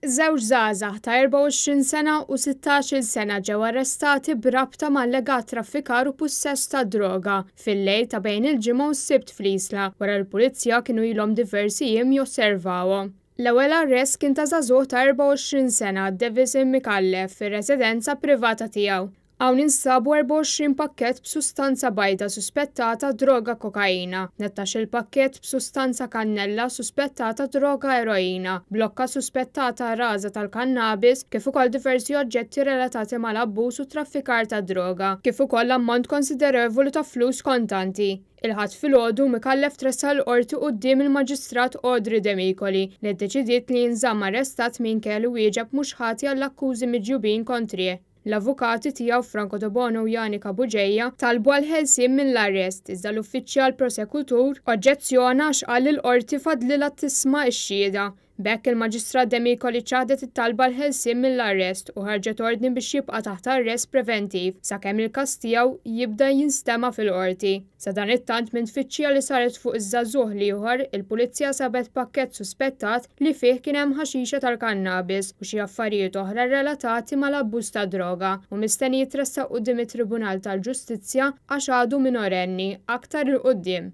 Żewġ żgħażagħ ta' 24 sena u 16-il sena ġew arrestati b'rabta ma' allegat traffikar u pussess ta' droga fil-lejl ta' bejn il-Ġimgħa u s-Sibt fl-Isla wara li l-Pulizija kienu ilhom diversi jiem josservawhom. L-ewwel arrest kien ta' żagħżugħ ta' 24 sena, Davison Micallef, fir-residenza privata tiegħu. Hawn instabu 24 pakkett b'sustanza bajda suspettata droga kokaina, 13-il pakkett b'sustanza kannella suspettata droga eroina, blokka suspettata raża tal-kannabis, kif ukoll diversi oġġetti relatati mal-abbuż u traffikar ta' droga, kif ukoll ammont konsiderevoli ta' flus kontanti. Il-Ħadd filgħodu, Micallef tressaq il-Qorti quddiem il-Maġistrat Audrey Demicoli li ddeċidiet li jinżamm arrestat minkejja li wieġeb mhux ħati għall-akkużi miġjubin kontrih. L-avukati tiegħu Franco Debono u Janika Bugeja talbu għall-ħelsien mill-arrest iżda l-uffiċjal prosekutur oġġezzjona għax qal li l-Qorti fadlilha tisma' x-xhieda. B'hekk il-Maġistrat Demicoli ċaħdet it-talba għall-ħelsien mill-arrest u ħarġet ordni biex jibqa' taħt arrest preventiv sakemm il-każ tiegħu jibda jinstema' fil-Qorti. Sadanittant minn tfittxija li saret fuq iż-żagħżugħ l-ieħor, il-Pulizija sabet pakkett suspettat li fih kien hemm ħaxixa tal-kannabis u xi affarijiet oħra relatati mal-abbuż tad-droga u mistenni jitressaq quddiem it-Tribunal tal-Ġustizzja għax għadu minorenni aktar 'il quddiem.